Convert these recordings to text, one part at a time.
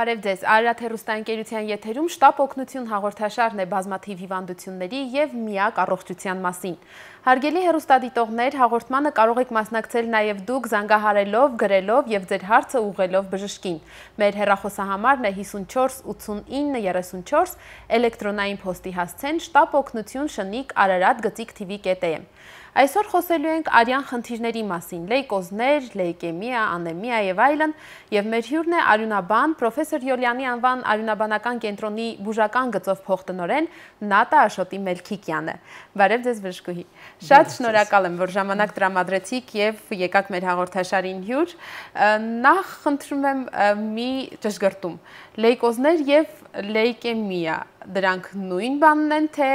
Բարև ձեզ, Արարատ հեռուստաընկերության եթերում շտապ օգնություն հաղորդաշարն է բազմաթիվ հիվանդությունների և միակ առողջության մասին։ Հարգելի հեռուստադիտողներ, հաղորդմանը կարող եք մասնակցել նաև դուք զանգահարելով, գրելով և ձեր հարցը ուղղելով բժշկին։ Մեր հեռախոսահամարն է 54 89 34, էլեկտրոնային փոստի հասցեն շտապ օգնություն շնիկ Արարատ /TV.am։ Այսօր խոսելու ենք արյան խնդիրների մասին, լեյկոզներ, լեյկեմիա, անեմիա և այլն, և մեր հյուրն է արյունաբան, պրոֆեսոր Յոլյանի անվան արյունաբանական կենտրոնի բուժական գծով փոխտնօրեն Նատա Աշոտի Մելքիկյանը։ Բարև ձեզ բժշկուհի։ Շատ շնորհակալ եմ, որ ժամանակ տրամադրեցիք և եկաք մեր հաղորդաշարին հյուր։ Նախ խնդրում եմ մի ճշգրտում, լեյկոզներ և լեյկեմիա, դրանք նույն բանն են, թե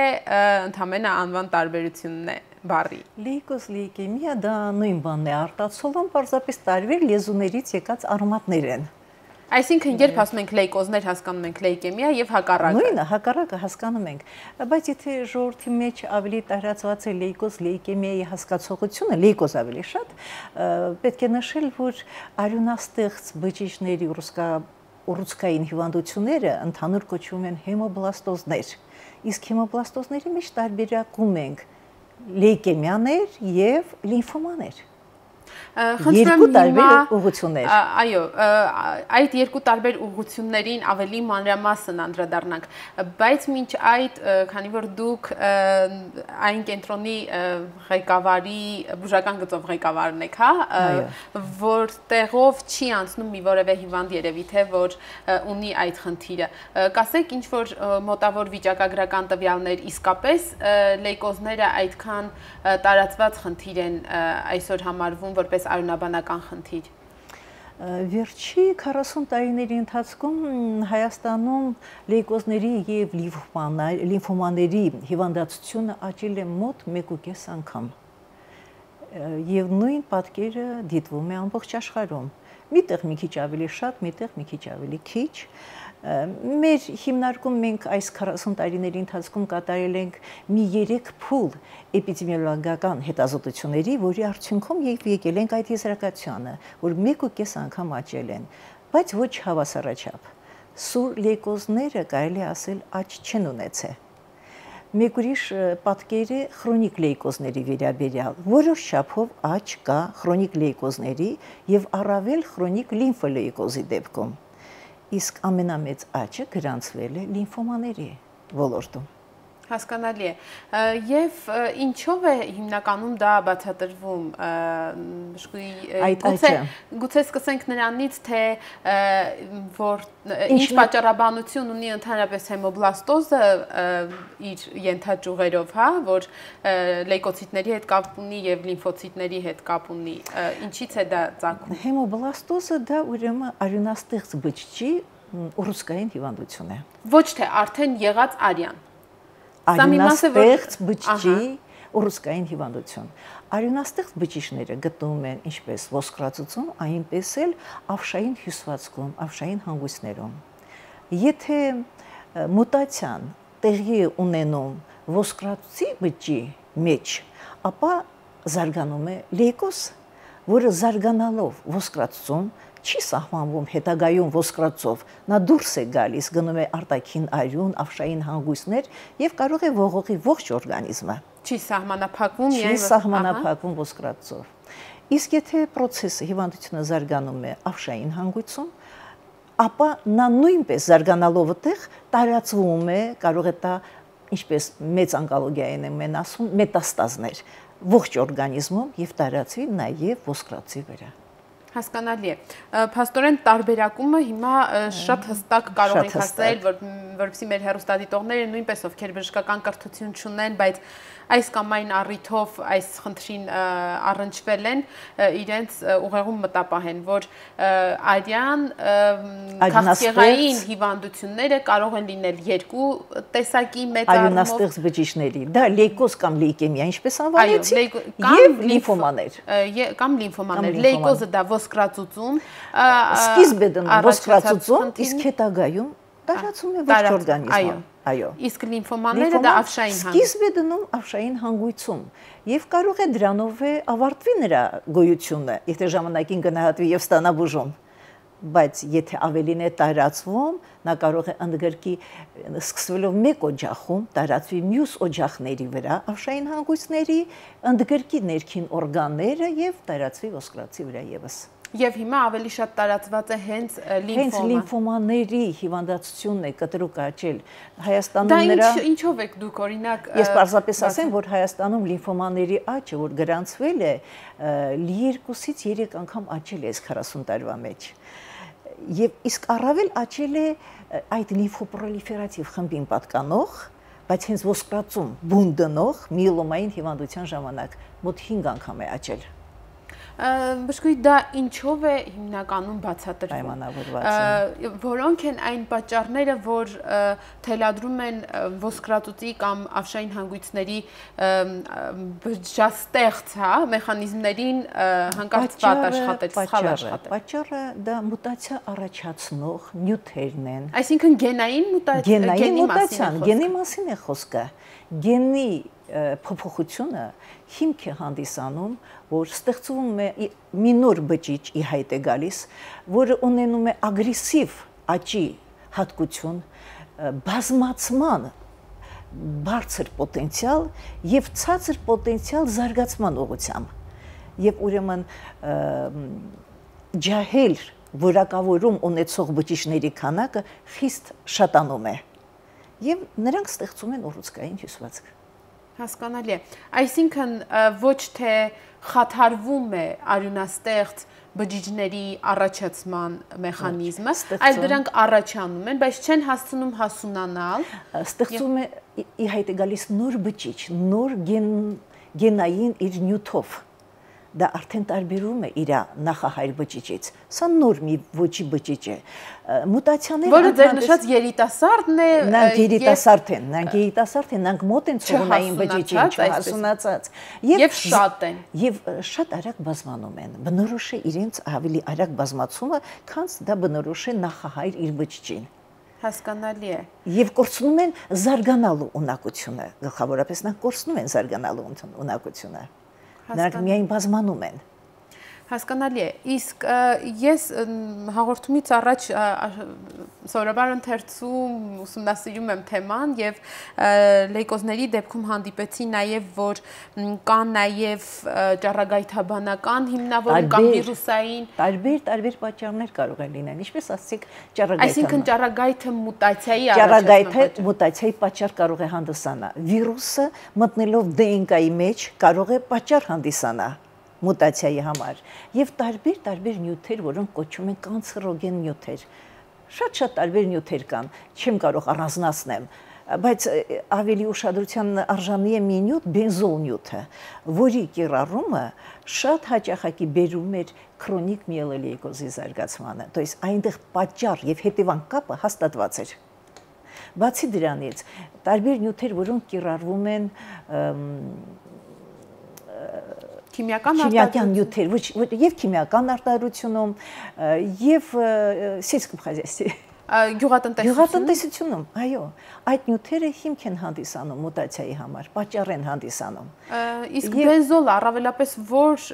ընդամենը անվան տարբերությունն է բառի։ Լեյկոզ, լեյկեմիա դա նույն բանն է, արտացոլում պարզապես տարբեր լեզուներից եկած արմատներ են։ Այսինքն երբ ասում ենք լեյկոզներ, հասկանում ենք լեյկեմիա եւ հակառակը։ Նույնը, հակառակը հասկանում ենք, բայց եթե ժողովրդի մեջ ավելի տարածված է լեյկոզ, լեյկեմիայի հասկացողությունը, լեյկոզ ավելի շատ, պետք է նշել, որ արյունաստեղծ բջիջների ուռուցքային հիվանդությունները ընդհանուր կոչվում են հեմոբլաստոզներ, իսկ հեմոբլաստոզների մեջ տարբերակում ենք լեյկեմիաներ և լիմֆոմաներ։ Երկու տարբեր ուղղություններ։ Այո, այդ երկու տարբեր ուղղություններին ավելի մանրամասն անդրադառնանք, բայց մինչ այդ, քանի որ դուք այն կենտրոնի ղեկավարի, բուժական գծով ղեկավարն եք, որտեղով չի անցնում մի որևէ հիվանդ երևի թե որ ունի այդ խնդիրը։ Կասեք ինչ որ մոտավոր վիճակագրական տվյալներ, իսկապես լեյկոզները այդքան տարածված խնդիր են այսօր համարվում որպես արյունաբանական խնդիր։ Վերջի 40 տարիների ընթացքում Հայաստանում լեյկոզների և լիմֆոմաների հիվանդացությունը աճել է մոտ 1.5 անգամ։ Եվ նույն պատկերը դիտվում է ամբողջ աշխարհում։ Միտեղ մի քիչ ավելի շատ, միտեղ մի քիչ ավելի քիչ։ Մեր հիմնարկում մենք այս 40 տարիների ընթացքում կատարել ենք մի 3 փուլ էպիդեմիոլոգիական հետազոտությունների, որի արդյունքում եկել ենք այդ եզրակացությանը, որ 1.5 անգամ աճել են, բայց ոչ հավասարաչափ։ Սուր լեյկոզները կարելի ասել աճ չեն ունեցել։ Մեկ ուրիշ պատկեր է խրոնիկ լեյկոզների վերաբերյալ, որոշ չափով աճ կա խրոնիկ լեյկոզների և առավել խրոնիկ լիմֆոլեյկոզի դեպքում։ Իսկ ամենամեծ աճը գրանցվել է լիմֆոմաների ոլորտում։ Հասկանալի է։ Եվ ինչով է հիմնականում դա բացատրվում, գուցե սկսենք նրանից, թե ինչ պատճառաբանություն ունի ընդհանրապես հեմոբլաստոզը իր ենթաճյուղերով, որ լեյկոցիտների հետ կապ ունի և լիմֆոցիտների հետ կապ ունի, ինչից է դա ծագում։ Հեմոբլաստոզը դա ուրեմն արյունաստեղծ բջջի ուռուցքային հիվանդություն է։ Ոչ թե արդեն եղած արյան։ Արյունաստեղծ բջջի ուռուցքային հիվանդություն։ Արյունաստեղծ բջիջները գտնվում են ինչպես ոսկրածուծում, այնպես էլ ավշային հյուսվածքում, ավշային հանգույցներում։ Եթե մուտացիան տեղի է ունենում ոսկրածուծի բջջի մեջ, ապա զարգանում է լեյկոզ, որը զարգանալով ոսկրածուծում չի սահմանվում հետագայում ոսկրածով, նա դուրս է գալիս, գնում է արտաքին արյուն, ավշային հանգույցներ և կարող է ողողի ողջ օրգանիզմը։ Չի սահմանափակվում, չի սահմանափակվում ոսկրածով։ Իսկ եթե պրոցեսը հիվանդությունը զարգանում է ավշային հանգույցում, ապա նա նույնպես զարգանալով այդտեղ տարածվում է, կարող է տա, ինչպես մեծ ոնկոլոգիայում են ասում, մետաստազներ ողջ օրգանիզմում և տարածվի նաև ոսկրածի վրա։ Հասկանալի է։ Փաստորեն տարբերակումը հիմա շատ հստակ կարող ենք ասել, որպեսզի մեր հեռուստադիտողները նույնպես ովքեր բժշկական կրթություն չունեն, բայց այս կամ այն առիթով այս խնդրին առնչվել են, իրենց ուղեղում մտապահեն, որ արյան քաղցկեղային հիվանդությունները կարող են լինել երկու տեսակի մեծ առումով արյունաստեղծ բջիջների, դա լեյկոզ կամ լեյկեմիա, ինչպես անվանեցիք, և լիմֆոմաներ։ Կամ լիմֆոմաներ։ Լեյկոզը դա ոսկրածուծում, սկիզբ է դնում ոսկրածուծում, իսկ հետագայում տարածում է ողջ օրգանիզմում։ Այո։ Իսկ լիմֆոմանները դա ավշային հանգույց։ Սկիզբ է դնում ավշային հանգույցում եւ կարող է դրանով ավարտվի նրա գոյությունը, եթե ժամանակին գնահատվի եւ ստանա բուժում։ բայց եթե ավելին է տարածվում, նա կարող է ընդգրկի սկսվելով մեկ օջախում տարածվի մյուս օջախների վրա, ավշային հանգույցների, ընդգրկի ներքին օրգանները եւ տարածվի ոսկրածի վրա եւս։ Եվ հիմա ավելի շատ տարածված է հենց լիմֆոմաների հիվանդացությունն է կտրուկ աճել Հայաստանում նրա։ Դա ինչով եք դուք օրինակ Ես պարզապես ասեմ, որ Հայաստանում լիմֆոմաների աճը, որ գրանցվել է, 2-ից 3 անգամ աճել է 40 տարվա մեջ։ Եվ իսկ առավել աճել է այդ լիմֆոպրոլիֆերատիվ խմբին պատկանող, բայց հենց ոսկրածում բուն դնող միելոմային հիվանդության ժամանակ մոտ 5 անգամ է աճել։ Բժշկուհի, դա ինչով է հիմնականում բացատրվում։ Որոնք են այն պատճառները, որ թելադրում են ոսկրածուծի կամ ավշային հանգույցների բջջաստեղծ, մեխանիզմներին հանկարծ վատ աշխատել, սխալ աշխատել։ Պատճառը դա մուտացիա առաջացնող նյութերն են։ Այսինքն գենային մուտացիա, գենի մասին է խոսքը։ Գենի փոփոխությունը հիմք է հանդիսանում, որ ստեղծվում է մի նոր բջիջ ի հայտ է գալիս, որը ունենում է ագրեսիվ աճի հատկություն, բազմացման բարձր պոտենցիալ եւ ցածր պոտենցիալ զարգացման ուղղությամբ։ Եվ ուրեմն ջահել որակավորում ունեցող բջիջների քանակը խիստ շատանում է եւ նրանք ստեղծում են ուռուցքային հյուսվածք։ Հասկանալի է։ Այսինքն ոչ թե խաթարվում է արյունաստեղծ բջիջների առաջացման մեխանիզմը, այլ դրանք առաջանում են, բայց չեն հասցնում հասունանալ։ Ստեղծում է ի հայտ է գալիս նոր բջիջ, նոր գենային իր նյութով։ Դա արդեն տարբերում է իր նախահայր բջիջից։ Սա նոր մի ոճի բջիջ է։ Մուտացիաները որը ձեր նշած երիտասարդն է, նրանք երիտասարդ են, նրանք մոտ են ցողունային բջիջին, չհասունացած եւ շատ են։ Եվ շատ արագ բազմանում են։ Բնորոշ է իրենց ավելի արագ բազմացումը, քան դա բնորոշ է նախահայր իր բջիջին։ Հասկանալի է։ Եվ կորցնում են զարգանալու ունակությունը, գլխավորապես նրանք կորցնում են զարգանալու ունակությունը։ Նրանք միայն բազմանում են։ Հասկանալի է։ Իսկ ես հաղորդումից առաջ սովորաբար ընթերցում ուսումնասիրում եմ թեման եւ լեյկոզների դեպքում հանդիպեցի նաեւ, որ կան նաեւ ճառագայթաբանական հիմնավորում կամ վիրուսային տարբեր պատճառներ կարող են լինել, ինչպես ասացիք, ճառագայթը։ Այսինքն ճառագայթը մուտացիայի ճառագայթը մուտացիայի պատճառ կարող է հանդիսանալ։ Վիրուսը մտնելով DNK-ի մեջ կարող է պատճառ հանդիսանալ մուտացիայի համար եւ տարբեր նյութեր, որոնք կոչվում են կանցերոգեն նյութեր։ Շատ տարբեր նյութեր կան, չեմ կարող առանձնացնել, բայց ավելի ուշադրության արժանի է մի նյութ, բենզոլ նյութը, որի կիրառումը շատ հաճախակի բերում էր քրոնիկ միելոլեյկոզի զարգացմանը, то есть այնտեղ պատճառ եւ հետևանք կապը հաստատված էր։ Բացի դրանից, տարբեր նյութեր, որոնք կիրառվում են քիմիական նյութեր, եւ քիմիական արտադրությունում, եւ սельском хозяйстве, գյուղատնտեսությունում, այո, այդ նյութերը հիմք են հանդիսանում մուտացիայի համար, պատճառ են հանդիսանում։ Իսկ բենզոլը առավելապես որ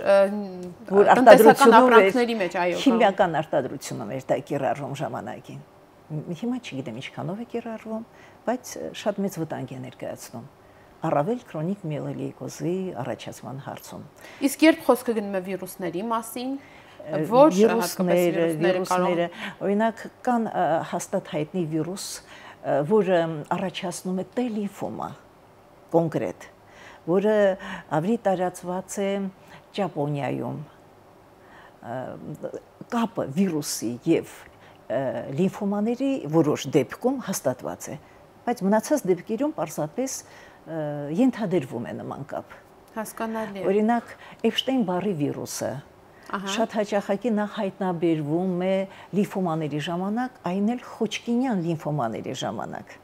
տնտեսական ապրանքների մեջ, այո, քիմիական արտադրությունում էր դա կիրառվում ժամանակին։ Հիմա չգիտեմ ինչքանով է կիրառվում, բայց շատ մեծ վտանգ է ներկայացնում։ Առավել քրոնիկ միելոլեյկոզի առաջացման հարցում։ Իսկ երբ խոսքը գնում է վիրուսների մասին, որ վիրուսները, օրինակ կան հաստատ հայտնի վիրուս, որը առաջացնում է T լիմֆոմա կոնկրետ, որը ավելի տարածված է Ճապոնիայում։ Կապը վիրուսի եւ լիմֆոմաների որոշ դեպքում հաստատված է, բայց մնացած դեպքերում պարզապես ենթադրվում է նման կապ։ Հասկանալի է։ Օրինակ, Էփշտեյն-Բարի վիրուսը շատ հաճախակի նախ հայտնաբերվում է լիմֆոմաների ժամանակ, այն էլ Խոչկինյան լիմֆոմաների ժամանակ։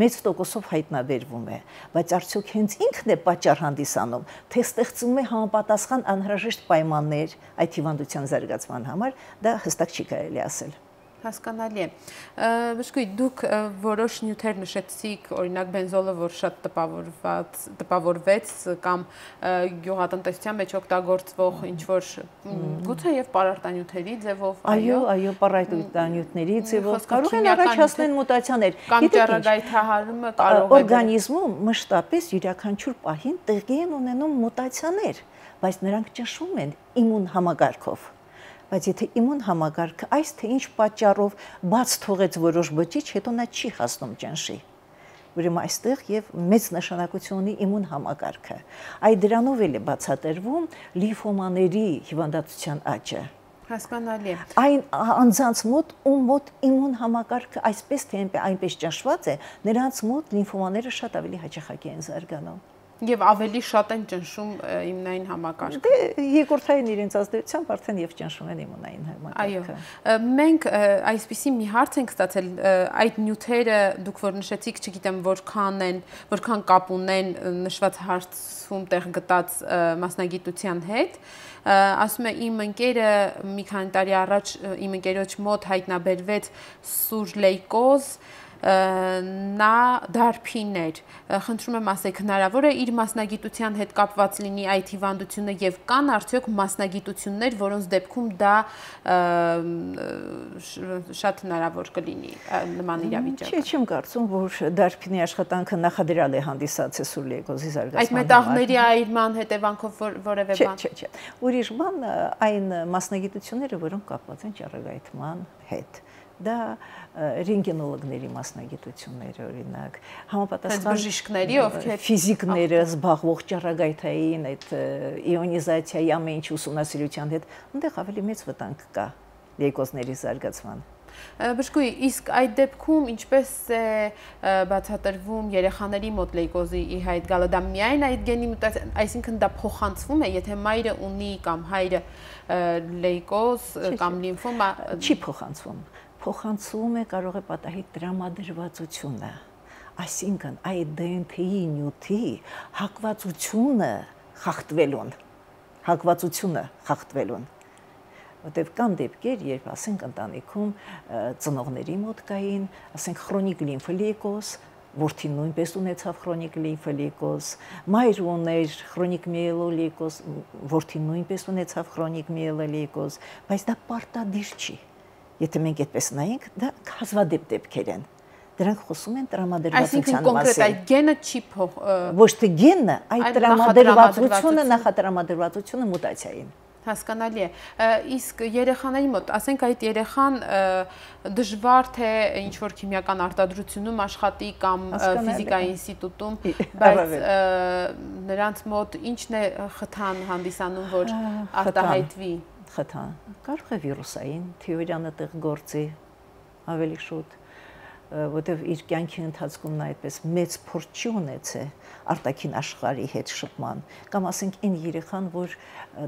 Մեծ տոկոսով հայտնաբերվում է, բայց արդյոք հենց ինքն է պատճառ հանդիսանում, թե ստեղծում է համապատասխան անհրաժեշտ պայմաններ այդ հիվանդության զարգացման համար, դա հստակ չի կարելի ասել։ Հասկանալի է։ Բժշկուհի, դուք որոշ նյութեր նշեցիք, օրինակ բենզոլը, որ շատ տպավորվեց կամ գյուղատնտեսության մեջ օգտագործվող ինչ-որ գուցե եւ պարարտանյութերի ձևով, այո, պարարտանյութերի ձևով կարող են առաջացնել մուտացիաներ։ Կամ ճառագայթահարումը կարող է օրգանիզմում մշտապես յուրաքանչյուր պահին տեղի են ունենում մուտացիաներ, բայց նրանք ճնշում են իմուն համակարգով։ Բայց եթե իմուն համակարգը այս թե ինչ պատճառով բաց թողեց որոշ բջիջ, հետո նա չի հասնում ճնշի։ Ուրեմն այստեղ եւ մեծ նշանակություն ունի իմուն համակարգը։ Այդ դրանով էլ է բացատրվում լիմֆոմաների հիվանդացության աճը։ Հասկանալի է։ Այն անձանց մոտ, ում մոտ իմուն համակարգը այսպես թե այնպես ճնշված է, նրանց մոտ լիմֆոմաները շատ ավելի հաճախակի են զարգանում։ Եվ ավելի շատ են ճնշում իմունային համակարգը։ Դե երկրորդային իրենց ազդեցությամբ արդեն եւ ճնշում են իմունային համակարգը։ Այո։ Մենք այսպիսի մի հարց ենք ստացել, այդ նյութերը դուք որ նշեցիք, չգիտեմ որքան կապ ունեն նշված հարցում տեղ գտած մասնագիտության հետ, ասում է իմ ընկերը մի քանի տարի առաջ իմ ընկերոջ մոտ հայտնաբերվեց սուր լեյկոզ, նա դարբիներ, խնդրում եմ ասեք, հնարավոր է իր մասնագիտության հետ կապված լինի այդ հիվանդությունը եւ կան արդյոք մասնագիտություններ, որոնց դեպքում դա շատ հնարավոր կլինի նման իրավիճակը։ Չեմ կարծում, որ դարբինի աշխատանքը նախադրյալ է հանդիսացել սուր լեյկոզի զարգացման։ Այդ մետաղների այրման հետևանքով որևէ բան։ Չէ։ Ուրիշ բան այն մասնագիտությունները, որոնք կապված են ճառագայթման հետ։ Դա ռենտգենոլոգների մասնագիտություններ, օրինակ, համապատասխան բժիշկների, ովքեր ֆիզիկները զբաղվող ճառագայթային այդ իոնիզացիայի ամեն ինչ ուսումնասիրության հետ, այնտեղ ավելի մեծ վտանգ կա լեյկոզների զարգացման։ Բժշկուհի, իսկ այդ դեպքում ինչպես է բացատրվում երեխաների մոտ լեյկոզի ի հայտ գալը, դա միայն այդ գենի մուտացիա, այսինքն դա փոխանցվում է, եթե մայրը ունի կամ հայրը լեյկոզ կամ լիմֆոմա, չի փոխանցվում։ Փոխանցվում է կարող է պատահի տրամադրվածությունը, այսինքն այդ DNT-ի նյութի հակվածությունը խախտվելուն, որտեղ կան դեպքեր, երբ ասենք ընտանիքում ծնողների մոտ կային, ասենք քրոնիկ լիմֆոլեյկոզ, որդին նույնպես ունեցավ քրոնիկ լիմֆոլեյկոզ, մայրը ուներ քրոնիկ միելոլեյկոզ, որդին նույնպես ունեցավ քրոնիկ միելոլեյկոզ, բայց դա պարտադիր չի։ Եթե մենք այդպես նայենք, դա հազվադեպ դեպքեր են։ Դրանք խոսում են տրամադրվածության մասին։ Այսինքն կոնկրետ այդ գենը չի ոչ թե գենը, այլ նախատրամադրվածությունը մուտացիային։ Հասկանալի է։ Իսկ երեխաների մոտ, ասենք այդ երեխան դժվար թե ինչ-որ քիմիական արտադրությունում աշխատի կամ ֆիզիկայի ինստիտուտում, բայց նրանց մոտ ինչն է խթան հանդիսանում, որ արտահայտվի։ Խթան կարող է վիրուսային թեորիան այդտեղ գործի ավելի շուտ, որտեղ իր կյանքի ընթացքում նա այդպես մեծ փորձ չի ունեցել արտաքին աշխարհի հետ շփման, կամ ասենք այն երեխան, որ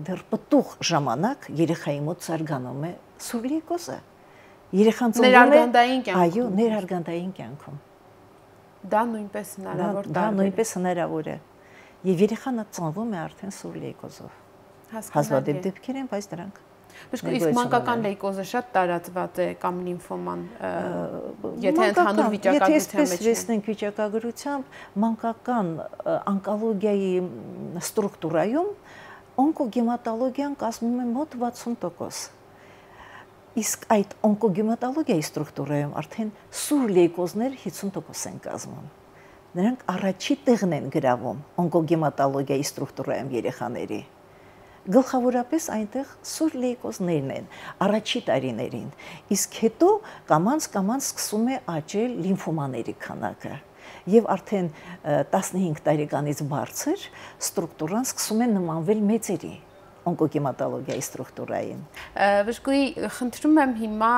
դեռ պտուղ ժամանակ երեխայի մոտ զարգանում է սուր լեյկոզը, երեխան ծնվում է ներարգանդային կյանքում, այո, ներարգանդային կյանքում, դա նույնպես հնարավոր դա նույնպես հնարավոր է, եւ երեխան ծնվում է արդեն սուր լեյկոզով, հազվադեպ դեպքեր են, բայց դրանք Իսկ մանկական լեյկոզը շատ տարածված է կամ լիմֆոման, եթե ընդհանուր վիճակագրության մեջ է։ Տեսնենք վիճակագրությամբ, մանկական օնկոլոգիայի ստրուկտուրայում օնկոգեմատոլոգիան կազմում է մոտ 60%։ Իսկ այդ օնկոգեմատոլոգիայի ստրուկտուրայում արդեն սուր լեյկոզներ 50% են կազմում։ Նրանք առաջի տեղն են գրավում օնկոգեմատոլոգիայի ստրուկտուրայում երեխաների։ Գլխավորապես այնտեղ սուր լեյկոզներն են առաջի տարիներին, իսկ հետո կամաց սկսում է աճել լիմֆոմաների քանակը եւ արդեն 15 տարեկանից բարձր ստրուկտուրան սկսում է նմանվել մեծերի օնկոգեմատոլոգիայի ստրուկտուրային։ Բժշկուհի, խնդրում եմ հիմա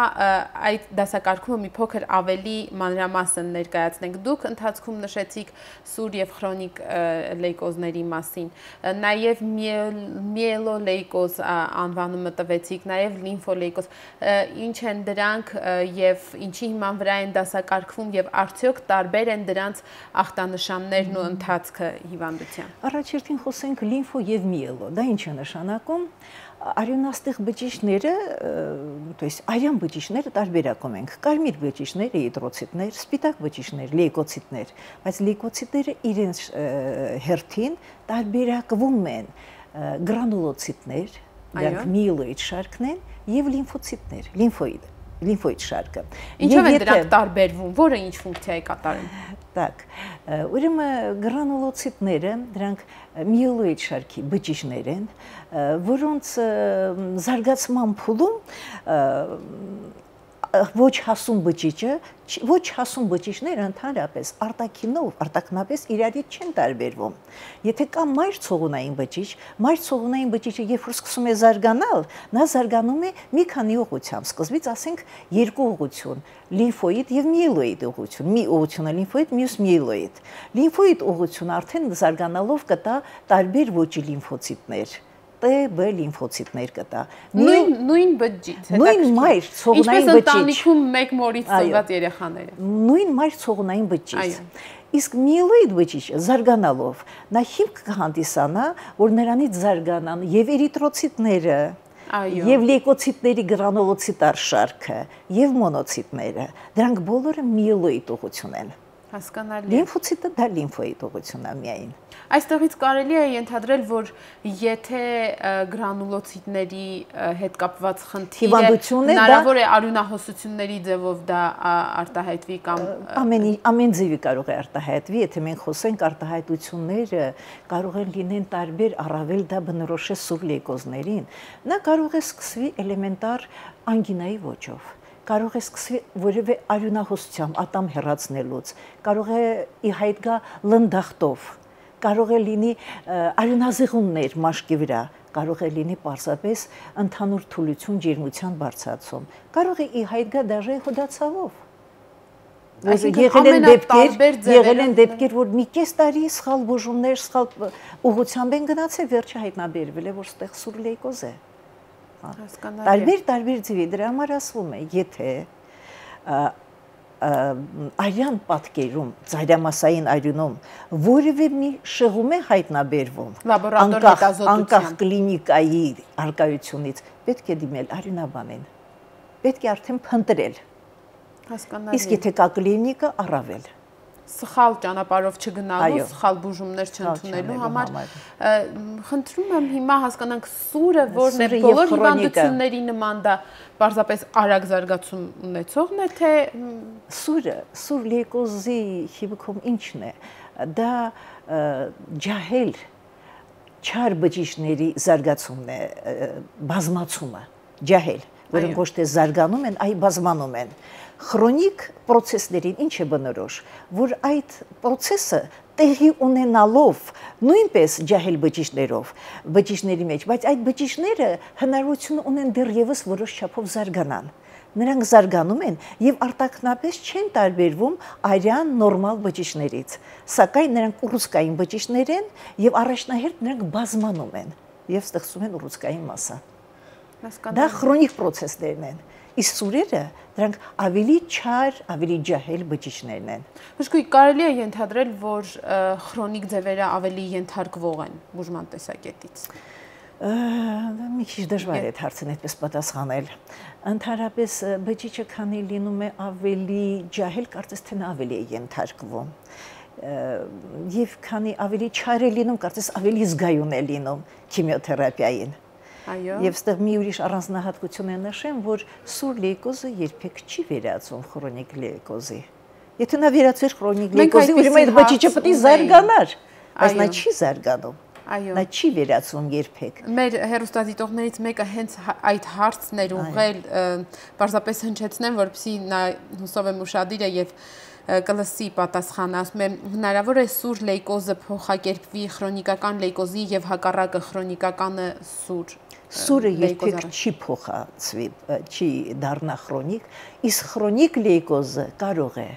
այդ դասակարգումը մի փոքր ավելի մանրամասն ներկայացնենք։ Դուք ընթացքում նշեցիք սուր եւ քրոնիկ լեյկոզների մասին, նաեւ միելոլեյկոզ անվանումը տվեցիք, նաեւ լիմֆոլեյկոզ։ Ինչ են դրանք եւ ինչի հիման վրա են դասակարգվում եւ արդյոք տարբեր են դրանց ախտանշաններն ու ընթացքը հիվանդության։ Առաջերտին խոսենք լիմֆո եւ միելո, դա ինչ է նշանակում։ շրջանակում արյունաստիղ բջիջները, то есть արյան բջիջները տարբերակում ենք, կարմիր բջիջներ, էրիթրոցիտներ, սպիտակ բջիջներ, լեյկոցիտներ, բայց լեյկոցիտները իրենց հերթին տարբերակվում են գրանուլոցիտներ, դրանք միելոիդ շարքն են, եւ լիմֆոցիտներ, լիմֆոիդ շարքը։ Ինչով են դրանք տարբերվում, որը ինչ ֆունկցիա է կատարում։ Так, ուրեմն գրանուլոցիտները դրանք միելոիդ շարքի բջիջներ են, որոնց զարգացման փուլում ոչ հասուն բջիջները ընդհանրապես արտաքինապես իրարից չեն տարբերվում։ Եթե կա մայր ցողունային բջիջը երբ որ սկսում է զարգանալ, նա զարգանում է մի քանի ուղղությամբ, սկզբից ասենք երկու ուղղություն, լիմֆոիդ եւ միելոիդ ուղղություն, մի ուղղությունը լիմֆոիդ, մյուս միելոիդ։ Լիմֆոիդ ուղղությունը արդեն զարգանալով կտա տարբեր ոճի լիմֆոցիտներ։ B լիմֆոցիտներ կտա։ Նույն բջիջ, նույն մայր ցողունային բջիջ։ Ինչպես ընտանիքում մեկ մորից ծնված երեխաները։ Նույն մայր ցողունային բջիջ։ Իսկ միելոիդ բջիջը զարգանալով նա հիմք կհանդիսանա, որ նրանից զարգանան եւ էրիթրոցիտները, եւ լեյկոցիտների գրանուլոցիտար շարքը, եւ մոնոցիտները։ Դրանք բոլորը միելոիդ ուղղություն են։ Հասկանալի։ Լիմֆոցիտը դա լիմֆոիդ ուղղությունն է միայն։ Այստեղից կարելի է ենթադրել, որ եթե գրանուլոցիտների հետ կապված խնդիրը հնարավոր է արյունահոսությունների ձևով դա արտահայտվի կամ ամեն ձևի կարող է արտահայտվի, եթե մենք խոսենք արտահայտությունները կարող են լինեն տարբեր, առավել դա բնորոշ է սուր լեյկոզներին, նա կարող է սկսվի էլեմենտար անգինայի ոճով, կարող է սկսվի որևէ արյունահոսությամբ, ատամ հեռացնելուց, կարող է ի հայտ գա լնդախտով, կարող է լինի արյունազեղուններ մաշկի վրա, կարող է լինի պարզապես ընդհանուր թուլություն, ջերմության բարձրացում, կարող է ի հայտ գա դաժե հոդացավով։ Եղել են դեպքեր, որ մի կես տարի սխալ բուժումներ, սխալ ուղղությամբ են գնացել, վերջը հայտնաբերվել է, որ ստեղ սուր լեյկոզ է։ Տարբեր ձևի, դրա համար ասվում է, եթե արյան պատկերում, ծայրամասային արյունում որևէ մի շեղում է հայտնաբերվում, անկախ կլինիկայի առկայությունից, պետք է դիմել արյունաբանին, պետք է արդեն փնտրել, իսկ եթե կա կլինիկա, առավել։ Սխալ ճանապարհով չգնալու, սխալ բուժումներ չընդունելու համար խնդրում եմ հիմա հասկանանք սուրը որն է բոլոր հիվանդությունների նման դա պարզապես արագ զարգացում ունեցողն է թե սուր լեյկոզի հիմքում ինչն է դա ջահել չար բջիջների զարգացումն է բազմացումը ջահել որոնք ոչ թե զարգանում են այլ բազմանում են Քրոնիկ procesներին ինչ է բնորոշ, որ այդ process-ը տեղի ունենալով նույնպես ջահել բջիջների մեջ, բայց այդ բջիջները հնարավորություն ունեն դեռևս որոշ չափով զարգանան։ Նրանք զարգանում են եւ արտաքնապես չեն տարբերվում արյան նորմալ բջիջներից, սակայն նրանք ուռուցքային բջիջներ են եւ առաջնահերթ նրանք բազմանում են եւ ստեղծում են ուռուցքային մասսա։ Դա քրոնիկ process-ներն են։ Իսկ սուրերը դրանք ավելի չար, ավելի ջահել բջիջներն են։ Մշկույն կարելի է ենթադրել, որ քրոնիկ ձևերը ավելի ենթարկվող են բուժման տեսակետից։ Մի քիչ դժվար է հարցին այդպես պատասխանել։ Ընդհանրապես բջիջը քանի լինում է ավելի ջահել, կարծես թե նա ավելի է ենթարկվում։ Եվ քանի ավելի չար է լինում, կարծես ավելի զգայուն է լինում քիմիոթերապիային։ Եվ ստեղ մի ուրիշ առանձնահատկություն է նշեմ, որ սուր լեյկոզը երբեք չի վերածվում քրոնիկ լեյկոզի։ Եթե նա վերածվեր քրոնիկ լեյկոզի, ուրեմն այդ բջիջը պետք է զարգանար, բայց նա չի զարգանում։ Նա չի վերածվում երբեք։ Մեր հեռուստադիտողներից մեկը հենց այդ հարցն էր ուղղել, պարզապես հնչեցնեմ, որպեսզի նա հուսով եմ ուշադիր է եւ կլսի պատասխանը, ասում եմ, հնարավոր է սուր լեյկոզը փոխակերպվի քրոնիկական լեյկոզի եւ հակառակը քրոնիկականը սուր։ Սուրը երբեք չի փոխացվի, չի դառնա քրոնիկ, իսկ քրոնիկ լեյկոզը կարող է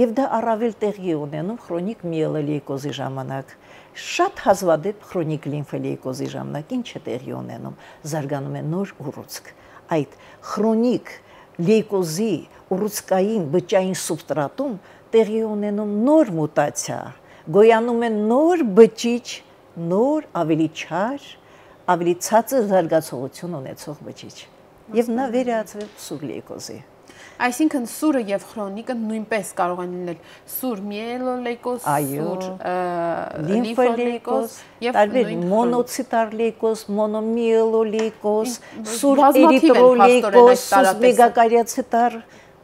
եւ դա առավել տեղի ունենում քրոնիկ միելոլեյկոզի ժամանակ։ Շատ հազվադեպ քրոնիկ լիմֆոլեյկոզի ժամանակ ինչ է տեղի ունենում, զարգանում է նոր ուռուցք։ Այդ քրոնիկ լեյկոզի ուռուցքային բջջային սուբստրատում տեղի ունենում նոր մուտացիա, գոյանում է նոր բջիջ, նոր ավելի չար, ավելի ցածր զարգացողություն ունեցող բջիջ։ Եվ նա վերածվել սուր լեյկոզի։ Այսինքն սուրը եւ խրոնիկը նույնպես կարող են լինել սուր միելոլեյկոզ, սուր լիմֆոլեյկոզ եւ տարբեր մոնոցիտար լեյկոզ, մոնոմիելոլեյկոզ, սուր էրիթրոլեյկոզ, սուր մեգակարիացիտար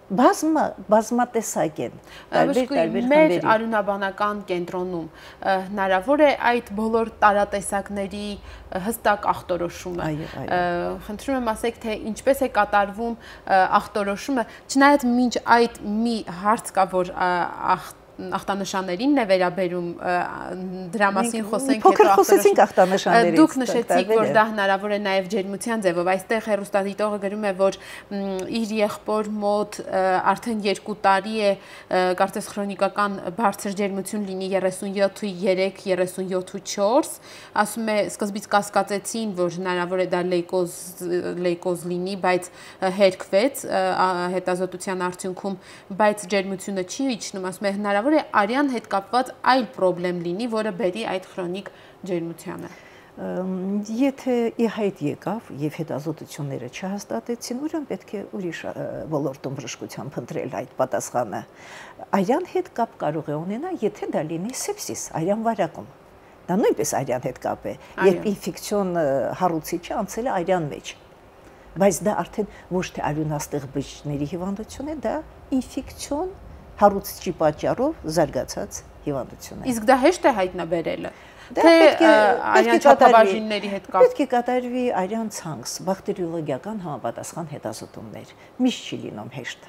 բազմատեսակ են, տարբեր մեր արյունաբանական կենտրոնում հնարավոր է այդ բոլոր տարատեսակների հստակ ախտորոշումը։ Խնդրում եմ ասեք, թե ինչպես է կատարվում ախտորոշումը, չնայած մինչ այդ մի հարց կա, որ ախտանշաններին է վերաբերում, դրա մասին խոսենք փոքր խոսեցինք ախտանշաններից։ Դուք նշեցիք, որ դա հնարավոր է նաև ջերմության ձևով։ Այստեղ հեռուստադիտողը գրում է, որ իր եղբոր մոտ արդեն 2 տարի է կարծես քրոնիկական բարձր ջերմություն լինի 37.3, 37.4, ասում է սկզբից կասկածեցին, որ հնարավոր է դա լեյկոզ լինի, բայց հերկվեց հետազոտության արդյունքում, բայց ջերմությունը չի իջնում, ասում է հնարավոր է արյան հետ կապված այլ պրոբլեմ լինի, որը բերի այդ քրոնիկ ջերմությանը։ Եթե ի հայտ եկավ եւ հետազոտությունները չհաստատեցին, ուրեմն պետք է ուրիշ ոլորտում բժշկության փնտրել այդ պատասխանը։ Արյան հետ կապ կարող է ունենալ, եթե դա լինի սեպսիս, արյան վարակում։ Դա նույնպես արյան հետ կապ է, երբ ինֆեկցիոն հարուցիչը անցել է արյան մեջ։ Բայց դա արդեն ոչ թե արյունաստեղ բջիջների հիվանդություն է, դա ինֆեկցիոն հարուցիչի պատճառով զարգացած հիվանդություն է։ Իսկ դա հեշտ է հայտնաբերելը։ Թե արյան չափաբաժինների հետ կապ։ Պետք է կատարվի արյան ցանց, բակտերիոլոգիական համապատասխան հետազոտումներ։ Միշտ չի լինում հեշտ,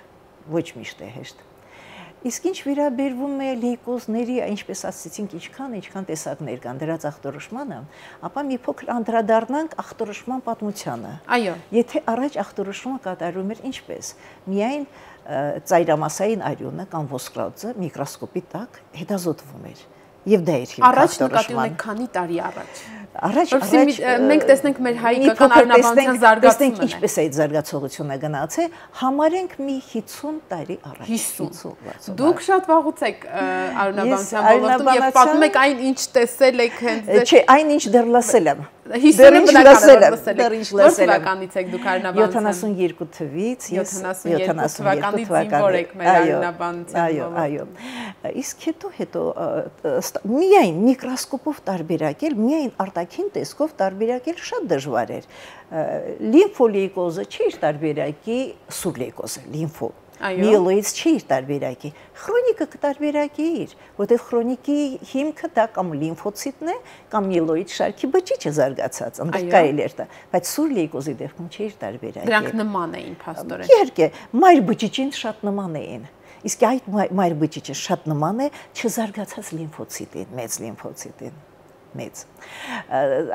ոչ միշտ է հեշտ։ Իսկ ինչ վերաբերվում է լեյկոզների, ինչպես ասացինք, ինչքան տեսակներ կան դրանց ախտորոշմանը, ապա մի փոքր անդրադառնանք ախտորոշման պատմությանը։ Այո։ Եթե առաջ ախտորոշումը կատարվում էր ինչպես, միայն ծայրամասային արյունը կամ ոսկրածը միկրոսկոպի տակ հետազոտվում էր։ Եվ դա էր հիմք առաջ նկատի ունեք քանի տարի առաջ։ Առաջ մենք տեսնենք մեր հայկական արյունաբանության զարգացումը։ Տեսնենք ինչպես է այդ զարգացողությունը գնացել, համարենք մի 50 տարի առաջ։ 50։ Դուք շատ վաղուց եք արյունաբանության ոլորտում եւ պատմում եք այն ինչ տեսել եք հենց։ Չէ, այն ինչ դեռ լսել եմ։ 50-ը բնական է լսել եք։ Որ թվականից եք դուք արյունաբանության։ 72 թվից, 72 թվականից զինվոր եք մեր արյունաբանության ոլորտում։ Այո։ Իսկ հետո միայն միկրոսկոպով տարբերակել, միայն արտաքին տեսքով տարբերակել շատ դժվար էր։ Լիմֆոլեյկոզը չի տարբերակի սուր լեյկոզը, լիմֆո։ Միելոիդս չի տարբերակի։ Քրոնիկը կտարբերակի իր, որտեղ քրոնիկի հիմքը դա կամ լիմֆոցիտն է, կամ միելոիդ շարքի բջիջը զարգացած, այնտեղ կարելի է դա, բայց սուր լեյկոզի դեպքում չի տարբերակի։ Դրանք նման էին փաստորեն։ Իհարկե, մայր բջիջին շատ նման էին։ Իսկ այդ մայր բջիջը շատ նման է չզարգացած լիմֆոցիտին, մեծ լիմֆոցիտին, մեծ։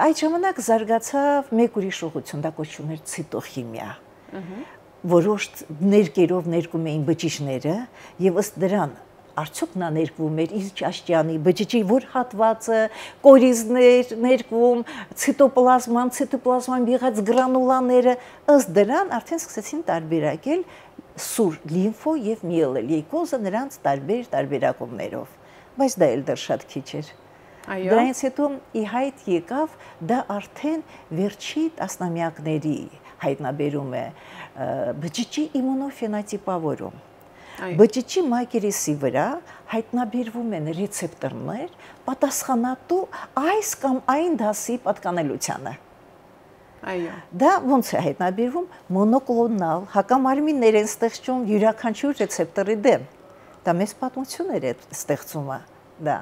Այդ ժամանակ զարգացավ մեկ ուրիշ ուղղություն, դա կոչվում էր ցիտոխիմիա։ Որոշ ներկերով ներկում էին բջիջները եւ ըստ դրան արդյոք նա ներկվում էր իր ճաշճյանի բջիջի որ հատվածը, կորիզներ ներկվում, ցիտոպլազման եղած գրանուլաները, ըստ դրան արդեն սկսեցին տարբերակել սուր լիմֆո եւ միելոլեյկոզը նրանց տարբեր տարբերակումներով, բայց դա էլ դեռ շատ քիչ էր։ Այո։ Դրանից հետո ի հայտ եկավ դա արդեն վերջի տասնամյակների հայտնաբերում է բջիջի իմունոֆենոտիպավորում։ Բջիջի մակերեսի վրա հայտնաբերվում են ռեցեպտորներ պատասխանատու այս կամ այն դասի պատկանելությանը։ Այո։ Դա ոնց է հայտնաբերվում մոնոկլոնալ հակամարմիններ են ստեղծում յուրաքանչյուր ռեցեպտորի դեմ։ Դա մեծ պատմություններ է ստեղծումը, դա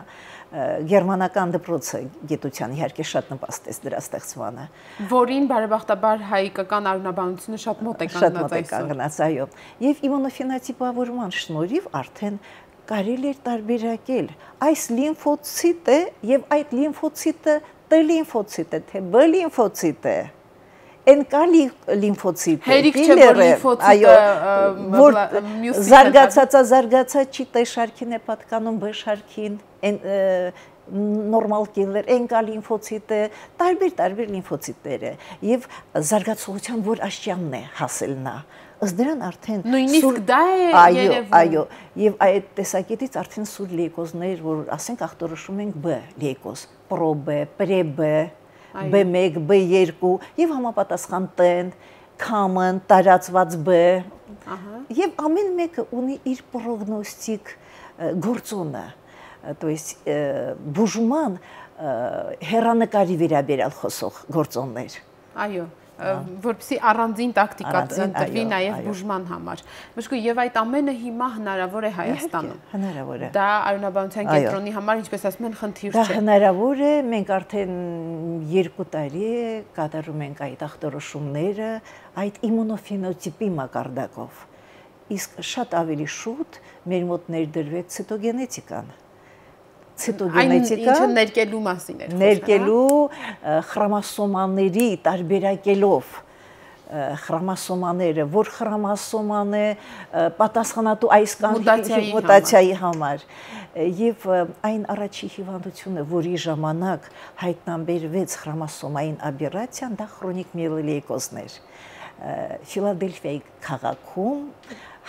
գերմանական դպրոցը գիտության իհարկե շատ նպաստեց դրա ստեղծմանը, որին բարեբախտաբար հայկական արյունաբանությունը շատ մոտ է կանգնած, այո, եւ իմունոֆենոտիպավորման շնորհիվ արդեն կարելի էր տարբերակել այս լիմֆոցիտը եւ այդ լիմֆոցիտը T լիմֆոցիտ է, թե B լիմֆոցիտ է, NK լիմֆոցիտ է, հերիք չէ որ լիմֆոցիտը որ զարգացած չի T շարքին է պատկանում B շարքին, նորմալ կիլեր, NK լիմֆոցիտ է, տարբեր լիմֆոցիտներ է եւ զարգացողության որ աշճանն է հասել նա։ Ըստ դրան արդեն նույնիսկ դա է երևում։ Այո, եւ այդ տեսակետից արդեն սուր լեյկոզներ, որ ասենք ախտորոշում ենք B լեյկոզ, պրո-B, պրե-B, B1, B2 եւ համապատասխան տեն, common, տարածված B, եւ ամեն մեկը ունի իր պրոգնոստիկ գործոնը, то есть բուժման հերանեկարի վերաբերյալ խոսող գործոններ։ Այո, որպեսզի առանձին տակտիկա տրվի նաև բուժման համար։ Մշկու եւ այդ ամենը հիմա հնարավոր է Հայաստանում։ Հնարավոր է։ Դա Արյունաբանության կենտրոնի համար, ինչպես ասում են, խնդիր չէ։ Դա հնարավոր է, մենք արդեն 2 տարի է կատարում ենք այդ ախտորոշումները այդ իմունոֆենոտիպի մակարդակով։ Իսկ շատ ավելի շուտ մեր մոտ ներդրվեց ցիտոգենետիկան։ Ցիտոգենետիկա ինչը ներկելու մասին էր։ Ներկելու խրոմոսոմաների տարբերակելով խրոմոսոմաները, որ խրոմոսոման է պատասխանատու այս կամ մուտացիայի համար եւ այն առաջի հիվանդությունը, որի ժամանակ հայտնաբերվեց խրոմոսոմային աբերացիան, դա քրոնիկ միելոլեյկոզն էր։ Ֆիլադելֆիայի քաղաքում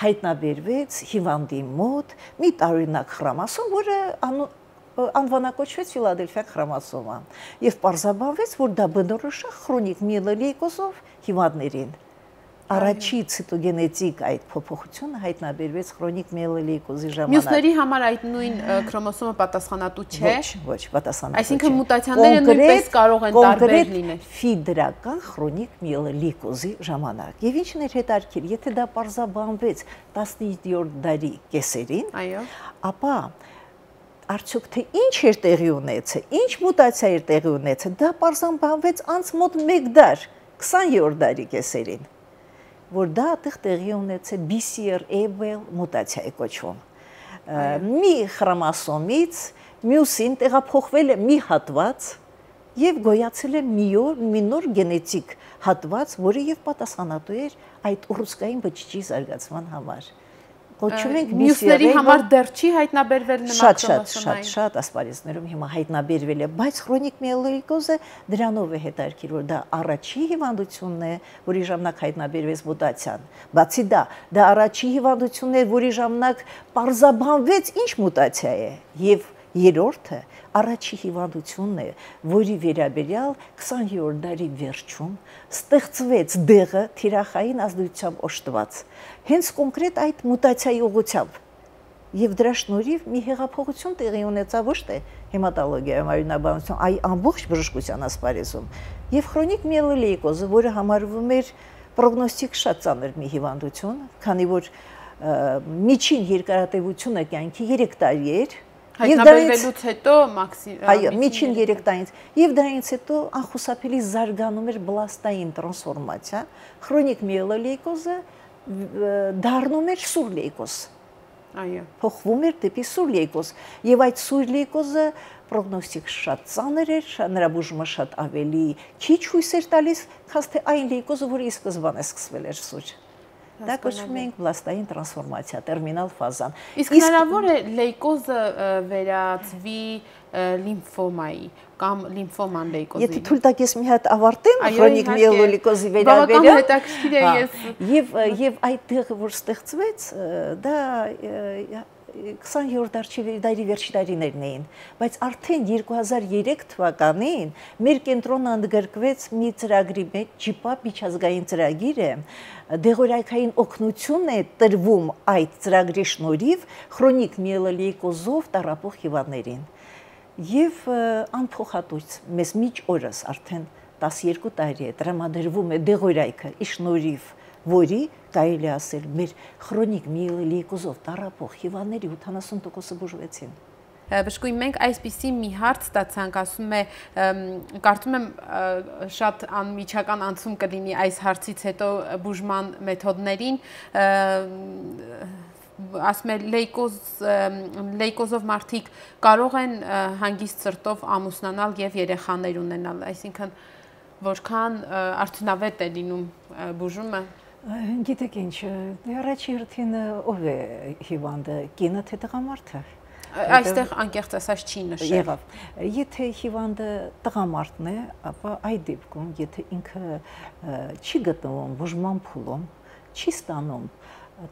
հայտնաբերվեց հիվանդի մոտ մի տարօրինակ խրոմոսոմ, որը անվանակոչվեց Ֆիլադելֆիա խրոմոսոմա եւ պարզաբանվեց, որ դա բնորոշ է քրոնիկ միելոլեյկոզով հիվանդներին։ Առաջի ցիտոգենետիկ այդ փոփոխությունը հայտնաբերվեց քրոնիկ միելոլեյկոզի ժամանակ։ Մյուսների համար այդ նույն քրոմոսոմը պատասխանատու չէ։ Ոչ, պատասխանատու չէ։ Այսինքն մուտացիաները նույնպես կարող են տարբեր լինել։ Ֆիդրական քրոնիկ միելոլեյկոզի ժամանակ։ Եվ ինչն էր հետաքրքիր, եթե դա պարզաբանվեց 17-րդ դարի կեսերին, այո, ապա արդյոք թե ինչ էր տեղի ունեցել, ինչ մուտացիա էր տեղի ունեցել, դա պարզաբանվեց անց մոտ 1 դար, 20-րդ դարի կեսերին, որ դա այդտեղ տեղի ունեցել BCR-ABL մուտացիայի կոչվում։ Մի խրոմոսոմից մյուսին տեղափոխվել է մի հատված եւ գոյացել է մի նոր գենետիկ հատված, որը եւ պատասխանատու էր այդ ուռուցքային բջիջի զարգացման համար։ Կոչում ենք մյուսների համար դեռ չի հայտնաբերվել նման քրոմոսոմային։ Շատ ասպարեզներում հիմա հայտնաբերվել է, բայց քրոնիկ միելոլեյկոզը դրանով է հետաքրքիր, որ դա առաջի հիվանդությունն է, որի ժամանակ հայտնաբերվեց մուտացիան։ Բացի դա առաջի հիվանդությունն է, որի ժամանակ պարզաբանվեց ինչ մուտացիա է, եւ երրորդը առաջի հիվանդությունն է, որի վերաբերյալ 20-րդ դարի վերջում ստեղծվեց դեղը թիրախային ազդեցությամբ օժտված, հենց կոնկրետ այդ մուտացիայի ուղղությամբ։ Եվ դրա շնորհիվ մի հեղափոխություն տեղի ունեցավ ոչ թե հեմատոլոգիայում, արյունաբանության, այլ ամբողջ բժշկության ասպարեզում։ Եվ քրոնիկ միելոլեյկոզը, որը համարվում էր պրոգնոստիկ շատ ծանր մի հիվանդություն, քանի որ միջին երկարատևությունը կյանքի 3 տարի էր, հայտնաբերվելուց հետո այո, միջին 3 տարից, եւ դրանից հետո անխուսափելի զարգանում էր բլաստային տրանսֆորմացիա, քրոնիկ միելոլեյկոզը դառնում էր սուր լեյկոզ։ Այո, փոխվում էր դեպի սուր լեյկոզ, եւ այդ սուր լեյկոզը պրոգնոստիկ շատ ծանր էր, նրա բուժումը շատ ավելի քիչ հույս էր տալիս, քան թե այն լեյկոզը, որը ի սկզբանե սկսվել էր սուր։ Դա կոչվում ենք բլաստային տրանսֆորմացիա, տերմինալ ֆազան։ Իսկ հնարավոր է լեյկոզը վերածվի լիմֆոմայի կամ լիմֆոման լեյկոզի։ Եթե թույլ տաք ես մի հատ ավարտեմ քրոնիկ միելոլեյկոզի վերաբերյալ։ Բավական հետաքրքիր է ես։ Եւ այդ տեղը, որ ստեղծվեց, դա 20-րդ դարի վերջի տարիներն էին, բայց արդեն 2003 թվականին մեր կենտրոնը ընդգրկվեց մի ծրագրի մեջ, ջիպապ միջազգային ծրագիր է, դեղորայքային օգնություն է տրվում այդ ծրագրի շնորհիվ քրոնիկ միելոլեյկոզով տառապող հիվանդներին։ Եվ անփոխատուց մեզ միջ օրս արդեն 12 տարի է տրամադրվում է դեղորայքը ի շնորհիվ որի կարելի ասել մեր քրոնիկ միելոլեյկոզով տառապող հիվանդների 80%-ը բուժվեցին։ Բժշկուհի, մենք այսպիսի մի հարց ստացանք, ասում է, կարծում եմ շատ անմիջական անցում կլինի այս հարցից հետո բուժման մեթոդներին, ասում է լեյկոզով մարդիկ կարող են հանգիստ սրտով ամուսնանալ եւ երեխաներ ունենալ, այսինքն որքան արդյունավետ է լինում բուժումը։ Գիտեք ինչ, առաջի հերթին ով է հիվանդը, կինը թե տղամարդը։ Այստեղ անկեղծ ասած չի նշել։ Եղավ։ Եթե հիվանդը տղամարդն է, ապա այդ դեպքում, եթե ինքը չի գտնվում բուժման փուլում, չի ստանում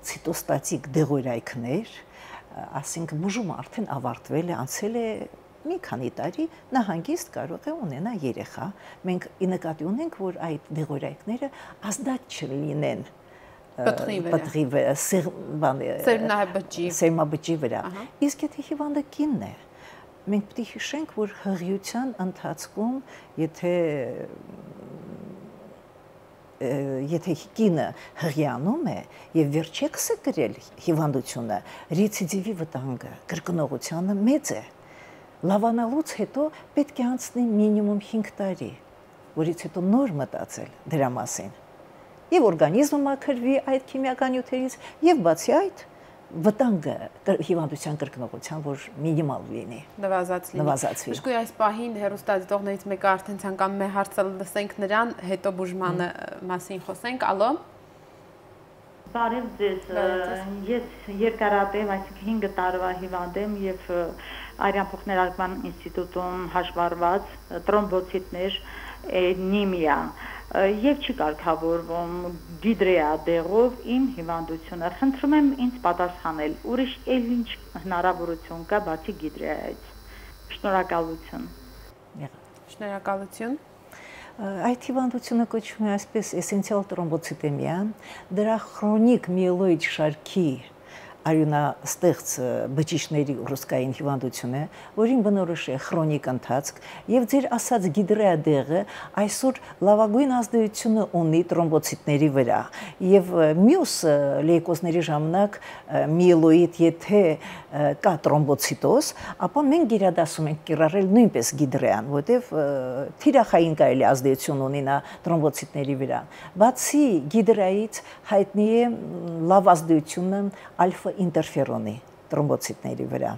ցիտոստատիկ դեղորայքներ, ասենք բուժումը արդեն ավարտվել է, անցել է մի քանի տարի նա հանգիստ կարող է ունենա երեխա։ Մենք նկատի ունենք, որ այդ դեղորայքները ազդակ չլինեն պտղի վրա, սերմաբջջի վրա։ Իսկ եթե հիվանդը կինն է, մենք պետք է հիշենք, որ հղիության ընթացքում, եթե կինը հղիանում է եւ վերջեքս է գրել հիվանդությունը, ռեցիդիվի վտանգը, կրկնողությունը մեծ է։ Լավանալուց հետո պետք է անցնի մինիմում 5 տարի, որից հետո նոր մտածել դրա մասին։ Եվ օրգանիզմը մաքրվի այդ քիմիական նյութերից, եւ բացի այդ վտանգը հիվանդության կրկնողության, որ մինիմալ լինի, նվազացվի։ Իսկ այս պահին հեռուստադիտողներից մեկը արդեն ցանկանում է հարցը լսենք նրան, հետո բուժմանը մասին խոսենք։ Ալո։ Բարև ձեզ, ես երկարատև, այսինքն 5 տարվա հիվանդ եմ եւ Արյան փոխներարկման ինստիտուտում հաշվառված տրոմբոցիտներ, անեմիա եւ չի կարգավորվում դիդրեա դեղով իմ հիվանդությունը։ Խնդրում եմ ինձ պատասխանել, ուրիշ ինչ հնարավորություն կա բացի դիդրեայից։ Շնորհակալություն։ Շնորհակալություն։ Այդ հիվանդությունը կոչվում է այսպես էսենցիալ տրոմբոցիտեմիա, դրա քրոնիկ միելոիդ շարքի արյունաստեղծ բջիջների ռուսկային հիվանդություն է, որին բնորոշ է քրոնիկ ընթացք, եւ ձեր ասած գիդրեա դեղը այսօր լավագույն ազդեցություն ունի տրոմբոցիտների վրա, եւ մյուս լեյկոզների ժամանակ միելոիդ եթե կա տրոմբոցիտոզ, ապա մենք գերադասում ենք կիրառել նույնպես գիդրեան, որտեվ թիրախային կարելի ազդեցություն ունի նա տրոմբոցիտների վրա։ Բացի գիդրեայից հայտնի է լավ ազդեցությունը ալֆա ինտերֆերոնի տրոմբոցիտների վրա։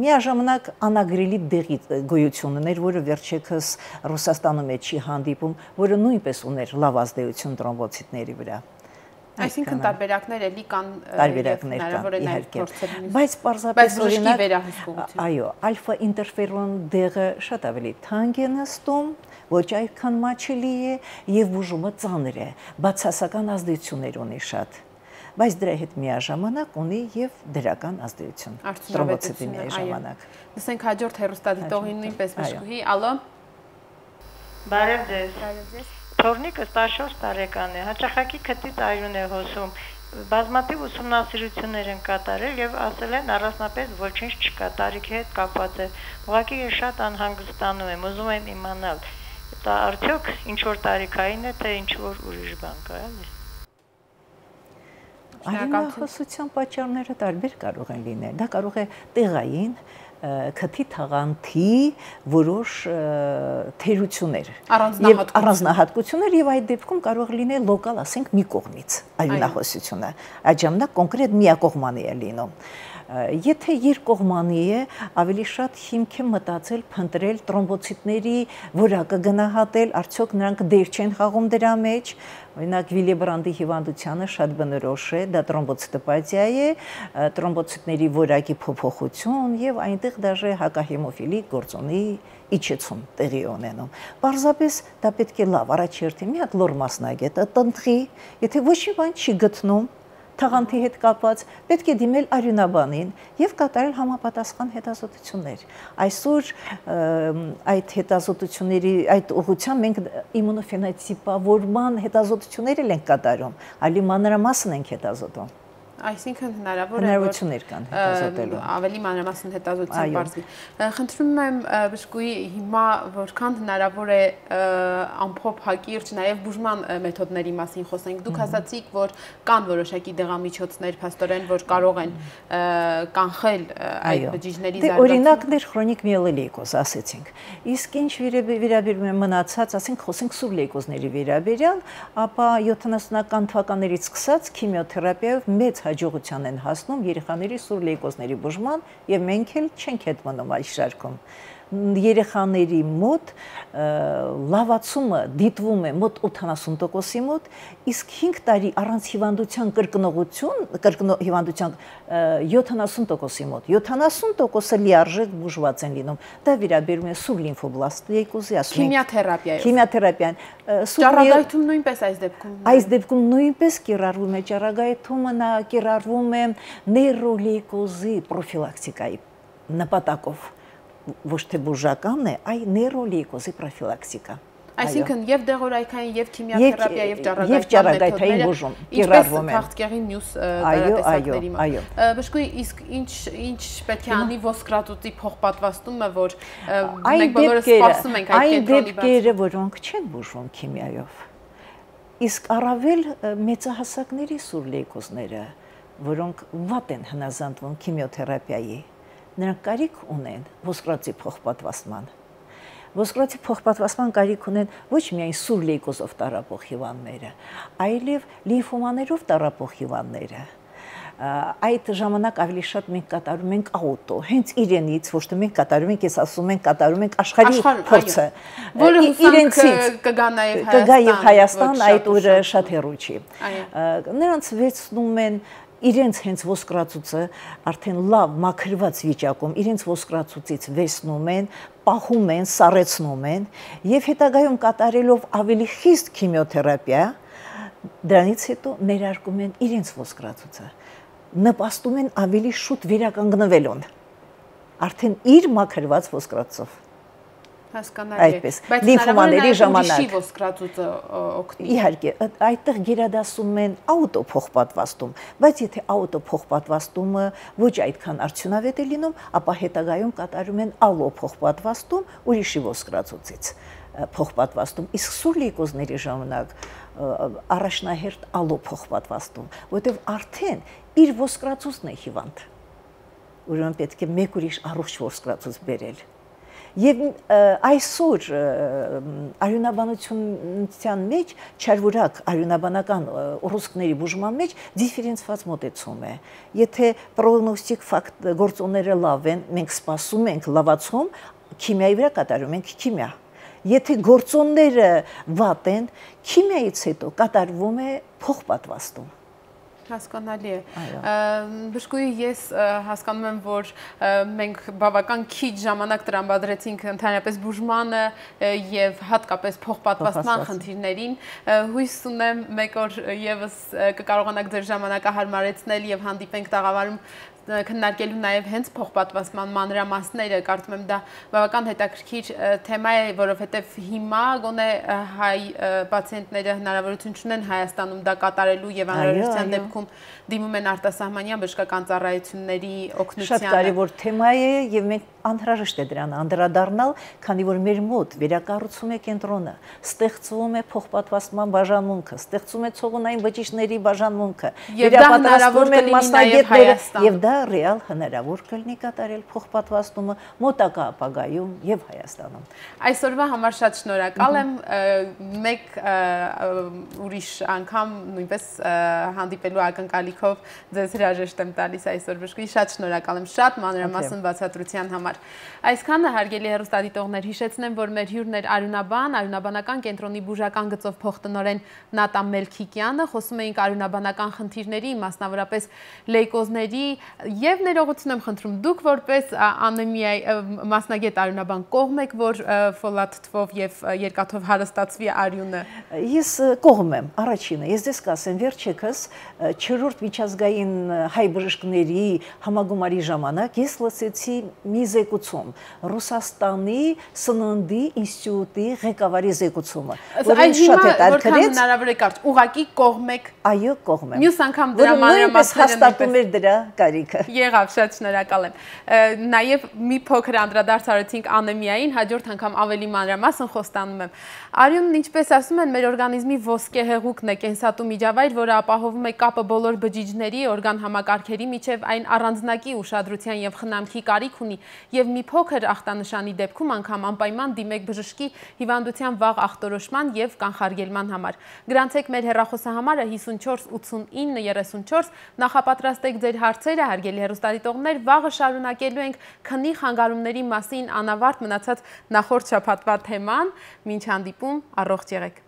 Միաժամանակ անագրելի դեղի գոյություններ, որը վերջերս Ռուսաստանում է չի հանդիպում, որը նույնպես ուներ լավ ազդեցություն տրոմբոցիտների վրա։ Այսինքն տարբերակներ էլի կան, հնարավոր է նաև փորձել։ Բայց պարզապես օրինակ, այո, ալֆա ինտերֆերոն դեղը շատ ավելի թանկ է նստում, ոչ այդքան մաչելի է եւ բուժումը ծանր է, բացասական ազդեցություններ ունի շատ։ Բայց դրա հետ միաժամանակ ունի եւ դրական ազդեցություն տրոմբոցիտների ժամանակ։ Լսենք հաջորդ հեռուստադիտողին նույնպես բժշկուհի, ալո։ Բարև ձեզ։ Թորնիկը 14 տարեկան է, հաճախակի քթից արյուն է հոսում, բազմաթիվ ուսումնասիրություններ են կատարել եւ ասել են առանձնապես ոչինչ չկա, տարիքի հետ կապված է։ Ուղղակի ես շատ անհանգստանում եմ, ուզում եմ իմանալ, դա արդյոք ինչ որ տարիքային է, թե ինչ որ ուրիշ բան կա, էլի։ Արյունահոսության պատճառները տարբեր կարող են լինել։ Դա կարող է տեղային քթի թաղանթի որոշ թերություններ եւ առանձնահատկություններ եւ այդ դեպքում կարող լինել լոկալ, ասենք, մի կողմից արյունահոսությունը։ Այդ ժամանակ կոնկրետ միակողմանի է լինում։ Եթե երկկողմանի է, ավելի շատ հիմք է մտածել փնտրել տրոմբոցիտների որակը գնահատել, արդյոք նրանք դեր չեն խաղում դրա մեջ։ Օրինակ Վիլեբրանդի հիվանդությունը շատ բնորոշ է, դա տրոմբոցիտոպաթիա է, տրոմբոցիտների որակի փոփոխություն եւ այնտեղ դաժե հակահեմոֆիլի գործոնի իջեցում տեղի ունենում։ Պարզապես դա պետք է լավ առաջերտի մի հատ լոր մասնագետը տնտղի, եթե ոչ մի բան չի գտնում թաղանթի հետ կապված, պետք է դիմել արյունաբանին եւ կատարել համապատասխան հետազոտություններ։ Այսօր այդ հետազոտությունների այդ ուղղությամբ մենք իմունոֆենոտիպավորման հետազոտություններ ենք կատարում, այլ մանրամասն ենք հետազոտում։ Այսինքն հնարավոր է հնարավորություններ կան հետազոտելու։ Ավելի մանրամասն հետազոտության բարձրի։ Խնդրում եմ բժշկուհի հիմա որքան հնարավոր է ամփոփ հակիրճ նաև բուժման մեթոդների մասին խոսենք։ Դուք ասացիք, որ կան որոշակի դեղամիջոցներ, փաստորեն, որ կարող են կանխել այդ բջիջների զարգացումը։ Օրինակներ քրոնիկ միելոլեյկոզ ասեցինք։ Իսկ ինչ վերաբերում է մնացած, ասենք, խոսենք սուր լեյկոզների վերաբերյալ, ապա 70-ական թվականներից սկսած քիմիոթերապիայով մեծ հաջողության են հասնում երեխաների սուր լեյկոզների բուժման եւ մենք էլ չենք հետ մնում այս շարքում։ Երեխաների մոտ լավացումը դիտվում է մոտ 80%-ի մոտ, իսկ 5 տարի առանց հիվանդության հիվանդության 70%-ի մոտ, 70%-ը լիարժեք բուժված են լինում։ Դա վերաբերում է սուր լիմֆոբլաստ լեյկոզի, ասում ենք քիմիոթերապիան։ Ճառագայթում նույնպես այս դեպքում։ Այս դեպքում նույնպես կիրառվում է ճառագայթումը, նա կիրառվում է նեյրոլեյկոզի պրոֆիլակտիկայի նպատակով ոչ թե բուժական է, այլ նեյրոլեյկոզի պրոֆիլակտիկա։ Այսինքն եւ դեղորայքային եւ քիմիաթերապիա եւ ճառագայթային բուժում կիրառվում են։ Քաղցկեղի մյուս տարատեսակների մոտ։ Բժշկուհի, իսկ ինչ պետք է անի ոսկրածուծի փոխպատվաստումը, որ մենք բոլորս սպասում ենք այդ կենտրոնի բացի։ Այն դեպքերը, որոնք չեն բուժվում քիմիայով, իսկ առավել մեծահասակների սուրլեյկոզները, որոնք վատ են հնազանդվում քիմիոթերապիայի, նրանք կարիք ունեն ոսկրածուծի փոխպատվաստման։ Ոսկրածուծի փոխպատվաստման կարիք ունեն ոչ միայն սուրլեյկոզով տառապող հիվանդները, այլև լիմֆոմաներով տառապող հիվանդները։ Այդ ժամանակ ավելի շատ մենք կատարում ենք աուտո, հենց իրենից, ոչ թե մենք կատարում ենք, ես ասում ենք, կատարում ենք աշխարհի փորձը։ Որը իրենցից կգա նաև Հայաստան, այդ օրը շատ հեռու չի։ Նրանց վերցնում են իրենց հենց ոսկրածուծը արդեն լավ մաքրված վիճակում իրենց ոսկրածուծից վերցնում են, պահում են, սառեցնում են եւ հետագայում կատարելով ավելի խիստ քիմիոթերապիա, դրանից հետո ներարկում են իրենց ոսկրածուծը, նպաստում են ավելի շուտ վերականգնվելուն, արդեն իր մաքրված ոսկրածով։ Հասկանալի է, բայց լիմֆոմաների ժամանակ ոսկրածուծը օգնի։ Իհարկե, այդտեղ գերադասում են աուտո փոխպատվաստում, բայց եթե աուտո փոխպատվաստումը ոչ այդքան արդյունավետ է լինում, ապա հետագայում կատարում են ալո փոխպատվաստում ուրիշի ոսկրածուծից փոխպատվաստում, իսկ սուրլեյկոզների ժամանակ առաջնահերթ ալո փոխպատվաստում, որտեղ արդեն իր ոսկրածուծն է հիվանդ, ուրեմն պետք է մեկ ուրիշ առողջ ոսկրածուծ բերել։ Եվ այսօր արյունաբանության մեջ, չարվուրակ արյունաբանական ուռուցքների բուժման մեջ դիֆերենցված մոտեցում է։ Եթե պրոգնոստիկ գործոնները լավ են, մենք սպասում ենք լավացում, քիմիայի վրա կատարում ենք քիմիա։ Եթե գործոնները վատ են, քիմիայից հետո կատարվում է փոխպատվաստում։ Հասկանալի է։ Բժշկուհի, ես հասկանում եմ, որ մենք բավական քիչ ժամանակ տրամադրեցինք ընդհանրապես բուժմանը եւ հատկապես փոխպատվաստման խնդիրներին։ Հույս ունեմ մեկ օր եւս կկարողանաք ձեր ժամանակը հարմարեցնել եւ հանդիպենք տաղավարում քննարկելու նաև հենց փոխպատվաստման մանրամասները, կարծում եմ դա բավական հետաքրքիր թեմա է, որովհետև հիմա գոնե հայ պացիենտները հնարավորություն չունեն Հայաստանում դա կատարելու եւ անհրաժեշտության դեպքում դիմում են արտասահմանյան բժշկական ծառայությունների օգնությանը։ Շատ կարևոր թեմա է եւ մենք անհրաժեշտ է դրան անդրադառնալ, քանի որ մեր մոտ վերակառուցում է կենտրոնը, ստեղծվում է փոխպատվաստման բաժանմունքը, ստեղծում է ցողունային բջիջների բաժանմունքը, վերապատրաստվում են մասնագետները եւ դա ռեալ հնարավոր կլինի կատարել փոխպատվաստումը մոտակա ապագայում եւ Հայաստանում։ Այսօրվա համար շատ շնորհակալ եմ, մեկ ուրիշ անգամ նույնպես հանդիպելու ակնկալիքով ձեզ հրաժեշտ եմ տալիս այսօր բժշկուհի, շատ շնորհակալ եմ, շատ մանրամասն բացատրության համար։ Այսքանը հարգելի հեռուստադիտողներ, հիշեցնեմ, որ մեր հյուրն էր արյունաբան, արյունաբանական կենտրոնի բուժական գծով փոխտնօրեն Նատա Մելքիկյանը, խոսում էինք արյունաբանական խնդիրների, մասնավորապես լեյկոզների եւ ներողություն եմ խնդրում, դուք որպես անեմիայի մասնագետ արյունաբան կողմ եք, որ ֆոլատ թվով եւ երկաթով հարստացվի արյունը։ Ես կողմ եմ, առաջինը, ես դες կասեմ, վերջերս 4-րդ միջազգային հայ բժիշկների համագումարի ժամանակ ես լսեցի մի զեկուցում, Ռուսաստանի սննդի ինստիտուտի ղեկավարի զեկուցումը, որին շատ հետաքրքրեց։ Որքան հնարավոր է կարճ, ուղղակի կողմ եք։ Այո, կողմ եմ։ Մյուս անգամ դրա մանրամասները հաստատում էր դրա կարիքը։ Եղավ, շատ շնորհակալ եմ։ Նաև մի փոքր անդրադարձ արեցինք անեմիային, հաջորդ անգամ ավելի մանրամասն խոստանում եմ։ Արյունն, ինչպես ասում են, մեր օրգանիզմի ոսկե հեղուկն է, կենսատու միջավայր, որը ապահովում է կապը բոլոր բջիջների, օրգան համակարգերի միջև, այն առանձնակի ուշադրության եւ խնամքի կարիք ունի եւ մի փոքր ախտանշանի դեպքում անգամ անպայման դիմեք բժշկի հիվանդության վաղ ախտորոշման եւ կանխարգելման համար։ Գրանցեք մեր հեռախոսահամարը 54 89 34, նախապատրաստեք ձեր հարցերը, հարգելի հեռուստադիտողներ, վաղը շարունակելու ենք քնի խանգարումների մասին անավարտ մնացած նախորդ շաբաթվա թեման, մինչ հանդիպում, առողջ եղեք։